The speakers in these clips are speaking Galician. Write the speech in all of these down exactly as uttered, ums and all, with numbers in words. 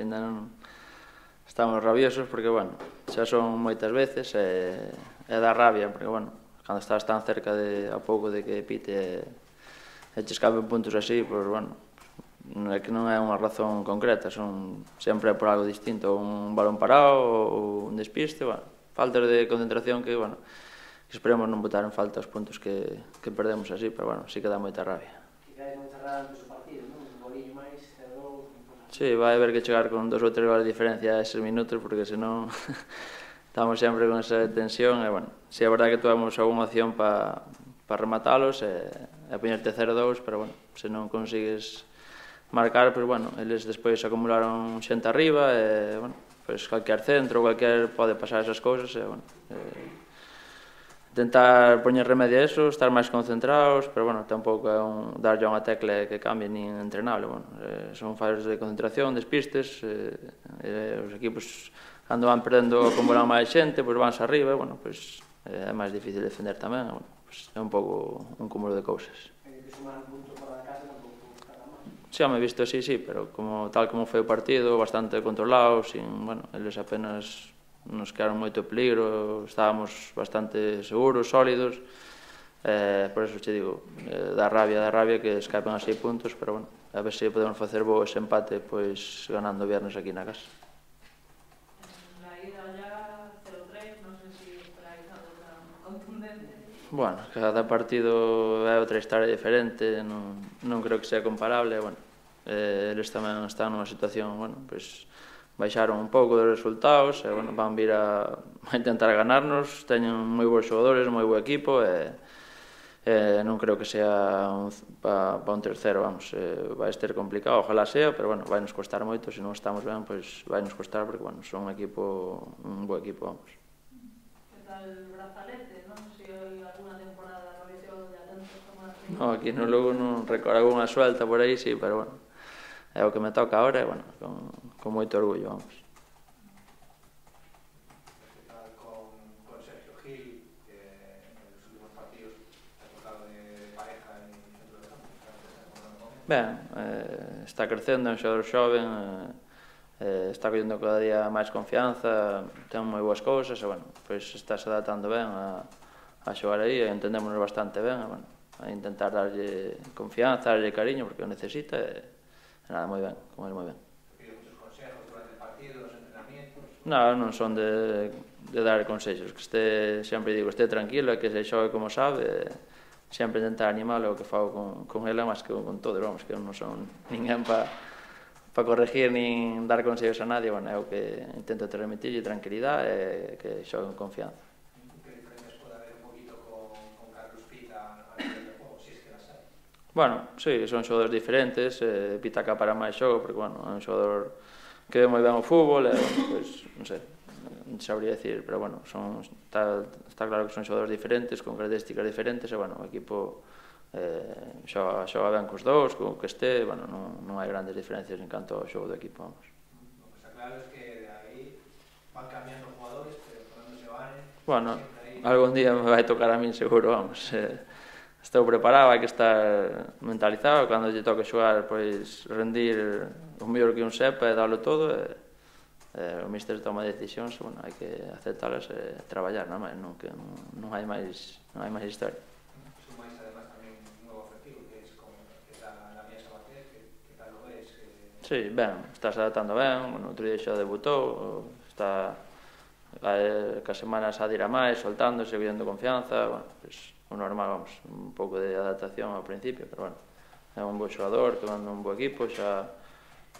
ainda non estamos rabiosos porque, bueno, xa son moitas veces e, e dá rabia, porque, bueno, cando estás tan cerca de, a pouco de que pite e che escapen puntos así, pois, bueno, é que non é unha razón concreta, son sempre por algo distinto, un balón parado ou un despiste, bueno, faltas de concentración que, bueno, que esperemos non botar en falta os puntos que, que perdemos así, pero, bueno, sí que dá moita rabia. Quizás moita rabia antes do partido, non? Un golillo máis, cero gol... Sí, vai haber que chegar con dos ou tres goles de diferencia a eses minutos, porque senón estamos sempre con esa tensión e, bueno, si é verdade que tuvemos alguna opción para pa rematalos e, e poñerte cero dous, pero, bueno, se non consigues marcar, pois, bueno, eles despois acumularon xente arriba e, bueno, pois calquer centro, calquer pode pasar esas cousas e, bueno, e, intentar poñer remedio a eso, estar máis concentrados, pero, bueno, tampouco é un darlle unha tecla que cambie nin entrenable, bueno, eh, son fallos de concentración, despistes, eh, eh, os equipos cando van perdendo acumulan máis xente, pois vanse arriba, e, bueno, pois eh, é máis difícil defender tamén, e, bueno, pois é un pouco un cúmulo de cousas. E que sumar un punto fora da casa tampouco está mal. Si, home, visto así, sí, pero como tal como foi o partido, bastante controlado, sin, bueno, eles apenas nos quedaron moito peligro, estábamos bastante seguros, sólidos, eh, por eso che digo, eh, dá rabia, dá rabia que escapen a seis puntos, pero, bueno, a ver se podemos facer bo ese empate, pois, ganando o viernes aquí na casa. La ida ya cero tres, non sei se esperáis algo tan contundente. Bueno, cada partido é outra historia diferente, non, non creo que sea comparable, bueno, eh, eles tamén están nunha situación, bueno, pois, baixaron un pouco dos resultados e, bueno, van vir a, a intentar ganarnos, teñen moi bons xogadores, moi bo equipo e, e non creo que sea un, pa, pa un terceiro, vamos, eh, vai ser complicado, ojalá sea, pero, bueno, vai nos costar moito, se non estamos ben, pois vai nos costar porque, bueno, son un equipo, un bo equipo, vamos. Que tal Brazalete, non? Se hai alguna temporada no Liceo de Atentos como así. No, aquí no Lugo non recordo alguna suelta por aí, sí, pero, bueno, é o que me toca ahora e, bueno, con, con moito orgullo, vamos. Que tal con, con Sergio Gil, que en los últimos partidos ha tocado de pareja en el centro de campo? Ben, eh, está crecendo, é un xogador xoven, eh, está collendo cada día máis confianza, ten moi boas cousas e, bueno, pois está se adaptando ben a, a xogar aí e entendémonos bastante ben e, bueno, a intentar darlle confianza, darlle cariño porque o necesita e nada, moi ben, con ele moi ben. Pide muchos consejos durante el partido, los entrenamientos. Non, non son de, de dar consejos, que este, sempre digo, este tranquilo e que se xogue como sabe, e sempre intentar animalo o que fago con, con ele, máis que con todo, vamos, que non son ninguén para pa corregir nin dar consejos a nadie, bueno, é o que intento transmitirlle tranquilidade e que xogue con confianza. ¿Qué diferencias puede haber un poquito con, con Carlos Pita a nivel de juego, si es que las hay? Bueno, sí, son xogadores diferentes, eh, Pita cá para máis xogo, porque, bueno, é un xogador que ve moi ben o fútbol, e, bueno, pois, non sei, non sabría decir, pero, bueno, son, está, está claro que son xogadores diferentes, con características diferentes, e, bueno, o equipo eh, xoga, xoga ben cos dous, con o que este, bueno, non, non hai grandes diferencias en canto ao xogo do equipo, vamos. Lo que está claro es que de ahí van cambiando jugadores, pero cuando se van... Bueno, algún día me vai tocar a min seguro, vamos, eh, estou preparado, hai que estar mentalizado, cando lle toque xogar, pois, rendir o mellor que un sepa e darlo todo, e, e o míster toma decisións, bueno, hai que aceptalas e traballar, non, non, que non, non hai máis, non hai máis historia. Sumáis además tamén un nuevo efectivo, que es como que es la, la Mía Sabater, que, que tal lo ves? Que... Sí, ben, está se adaptando ben, bueno, outro día xa debutou, está eh, que as semanas a dirá máis, soltándose, vendo confianza, bueno, pois, o normal, vamos, un pouco de adaptación ao principio, pero, bueno, é un bo xogador, que manda un bo equipo, xa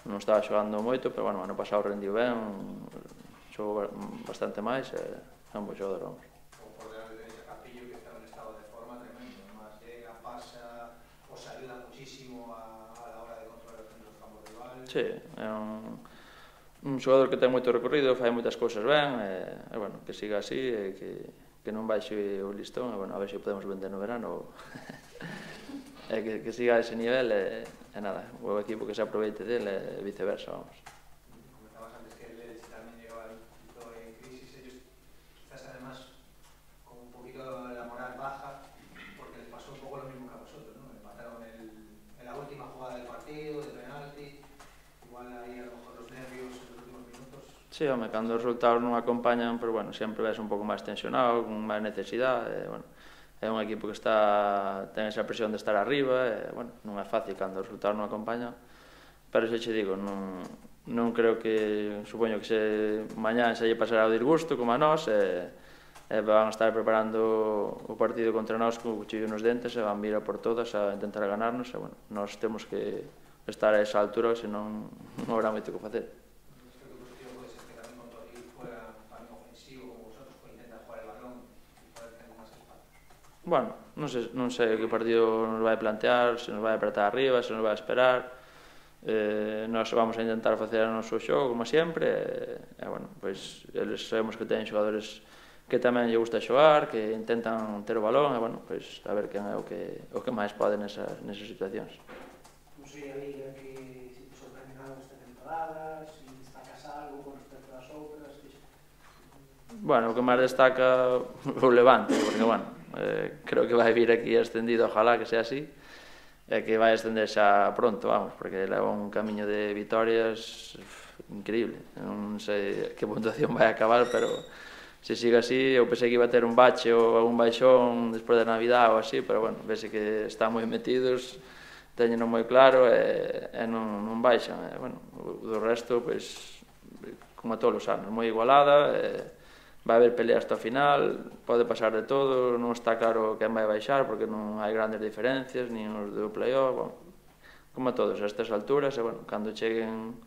non estaba xogando moito, pero, bueno, ano pasado rendiu ben, xogou bastante máis, e é un bo xogador, vamos. O por delante tenéis a Capillo, que está en un estado de forma tremendo, además llega, pasa, os ayuda muchísimo a, a la hora de controlar el centro del campo rival. Sí, é un, un xogador que ten moito recorrido, fai moitas cousas ben, e, e bueno, que siga así, e que que non baixe o listón, e, bueno, a ver se podemos vender no verano, e que, que siga a ese nivel, e, e nada, o equipo que se aproveite dele, e viceversa, vamos. Comentabas antes que el Elche también llegaba un poquito en crisis, ellos quizás además con un poquito la moral baja, porque les pasó un poco lo mismo que a vosotros, ¿no? Empataron el, en la última jugada del partido, de penalti, igual ahí a lo mejor los nervios Sí, home, cando os resultados non acompañan, pero bueno, sempre ves un pouco máis tensionado, con máis necesidade, e, bueno, é un equipo que está ten esa presión de estar arriba, e, bueno, non é fácil cando os resultados non acompañan, pero xa che digo, non, non creo que, supoño que se mañán se lle pasará o disgusto como a nós, e, e van a estar preparando o partido contra nós con o cuchillo nos dentes e van vir a por todas a intentar ganarnos, e, bueno, nós temos que estar a esa altura, senón non habrá moito que facer. Bueno, non sei, non sei que partido nos vai plantear, se nos vai apretar arriba, se nos vai esperar. Eh, nós vamos a intentar facer o noso xogo, como sempre, e, e bueno, pois, eles sabemos que teñen xogadores que tamén lle gusta xogar, que intentan ter o balón, e, bueno, pois, a ver quen é o que, o que máis pode nesas, nesas situacións. Non sei a Liga que se te sorprenden algo esta temporada, se destacas algo con respecto ás outras, que... Bueno, o que máis destaca o Levante, porque, bueno, Eh, creo que vai vir aquí ascendido, ojalá que sea así, e que vai ascender xa pronto, vamos, porque leva un camiño de vitorias increíble. Non sei que puntuación vai acabar, pero se sigue así, eu pensei que iba a ter un bache ou un baixón despois da Navidad ou así, pero bueno, vese que están moi metidos, teñeno moi claro e, e non, non baixan. E, bueno, o do resto, pois, como a todos os anos, moi igualada, e vai haber pelea hasta o final, pode pasar de todo, non está claro quen vai baixar porque non hai grandes diferencias, nin os do play-off, bueno, como a todos a estas alturas, e, bueno, cando cheguen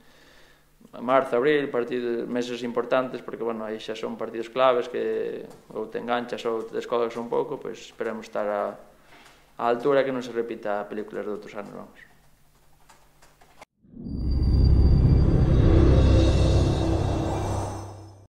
a marzo, abril, partidos, meses importantes, porque, bueno, aí xa son partidos claves que ou te enganchas ou te descolgas un pouco, pois esperemos estar a, a altura que non se repita a películas de outros anos, vamos.